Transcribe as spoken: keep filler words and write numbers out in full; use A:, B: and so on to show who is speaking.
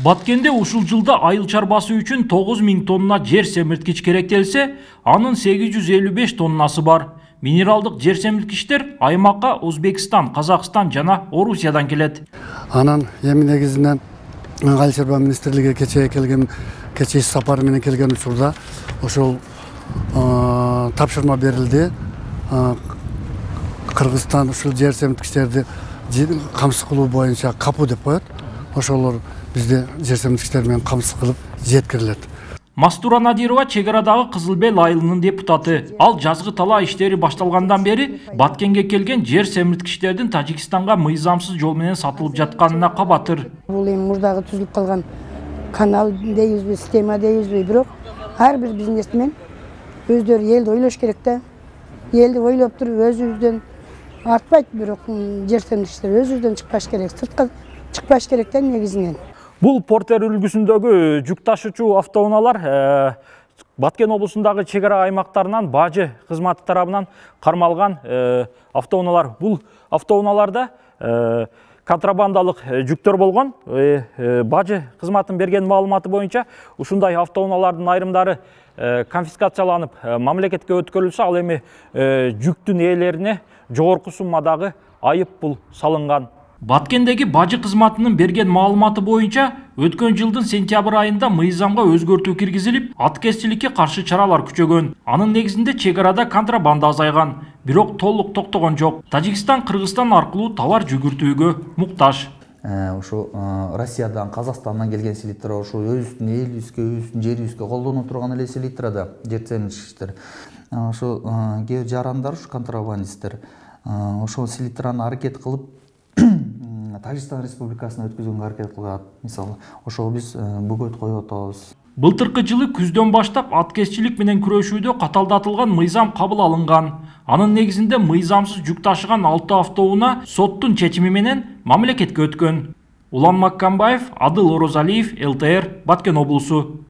A: Баткенде ушул жылда айыл чарбасы үчүн тогуз миң тонна жер семирткич керектелсе, анын сегиз жүз элүү беш тоннасы бар. Минералдык жер семирткичтер аймакка Өзбекстан, Казакстан жана Орусиядан келет.
B: Анан эми негизинен айыл чарба министрлиги кечээ келген, кечээ иш сапары менен келген учурда ошол тапшырма берилди. Кыргызстан ушул жер семирткичтерди камсыз кылуу боюнча капу деп коет. Ошолор бизде жер семирткичтер менен камсыз кылып жеткирилет.
A: Мастура Надирова чек арадагы Кызыл Бел айылынын депутаты. Ал жазгы талаа иштери башталгандан бери Баткенге келген жер семирткичтердин Тажикстанга мыйзамсыз жол менен сатылып жатканына кабатыр.
C: Бул эми мурдагы түзүлүп калган канал дейбизби, система дейбизби, бирок ар бир бизнесмен өздөрү элди ойлош керек да. Элди ойлоп туруп өзүбүздөн артпайт, бирок жер семирткичтер өзүбүздөн чыкпаш керек, сыртка чыкпаш керек да негизинен.
A: Бул Портер үлгүсүндөгү жүк ташуучу автоунаалар Баткен облусундагы чек ара аймактарынан бажы кызматы тарабынан кармалган автоунаалар. Бул автоунааларда контрабандалык жүктөр болгон. Бажы кызматын берген маалыматы боюнча ушундай автоунаалардын айрымдары конфискацияланып мамлекетке өткөрүлсө, ал эми жүктүн ээлерине жогорку суммадагы айып пул салынган. Баткендеги бажы кызматынын берген маалыматы боюнча өткөн жылдын сентябрь айында мыйзамга өзгөртүү киргизилип, аткезчиликке каршы чаралар күчөгөн. Анын негизинде чек арада контрабанда азайган, бирок толук токтогон жок. Тажикстан, Кыргызстан аркылуу товар жүгүртүүгө муктаж.
D: Ошо Россиядан, Казакстандан келген селитр ошо өзүбүздүн элибизге, өзүбүздүн жерибизге колдонуп турган эле селитрада жер семирткичтер. Ошо кээ жарандар, ушу контрабандисттер ошол селитраны аракет кылып Тажикстан Республикасына өткөзгөнгө аракет кылат. Мисалы, ошого биз бөгөт коюп атабыз.
A: Былтыркы жылы күздөн баштап аткезчилик менен күрөшүүдө каталдатылган мыйзам кабыл алынган. Анын негизинде мыйзамсыз жүк ташыган алты автоунаа соттун чечими менен мамлекетке өткөн. Улан Маккамбаев, Адыл Орозалиев, эл тэ эр, Баткен облусу.